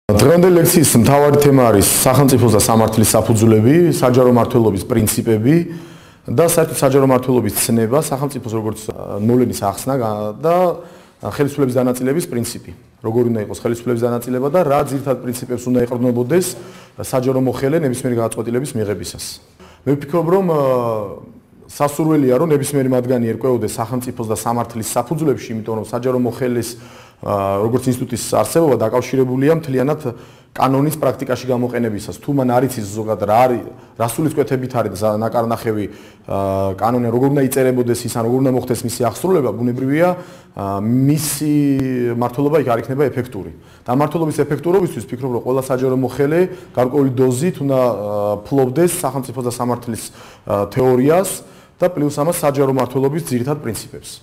დღევანდელი ლექციის მთავარი თემა არის სახელმწიფოს და სამართლის საფუძვლები, საჯარო მმართველობის პრინციპები და საერთოდ საჯარო მმართველობის ცნება, სახელმწიფოს როგორც ნოლენის ახსნა და ხელისუფლების დანაწილების პრინციპი. როგორ უნდა იყოს ხელისუფლების დანაწილება და რა ძირითად პრინციპებს უნდა ეყრდნობოდეს საჯარო მოხელე ნებისმიერი გადაწყვეტილების მიღებისას. მე ვფიქრობ, რომ სასურველია, რომ ნებისმიერი მათგანი ერკვეოდეს სახელმწიფოს და სამართლის საფუძვლებში, იმიტომ რომ საჯარო მოხელის როგორც ინსტიტუტის არსებობა დაკავშირებულია მთლიანად კანონის პრაქტიკაში გამოყენებისას. თუ მან არ იცის ზოგადად რა არის, რა სულისკვეთებით არის ნაკარნახევი კანონი, როგორ უნდა იწერებოდეს ის, ან როგორ უნდა მოხდეს მისი აღსრულება, ბუნებრივია მისი მმართველობა იქ არ იქნება ეფექტური. და მმართველობის ეფექტურობისთვის ვფიქრობ, რომ ყველა საჯარო მოხელე გარკვეული დოზით უნდა ფლობდეს სახელმწიფოს და სამართლის თეორიას და პლუს ამას საჯარო მმართველობის ძირითად პრინციპებს.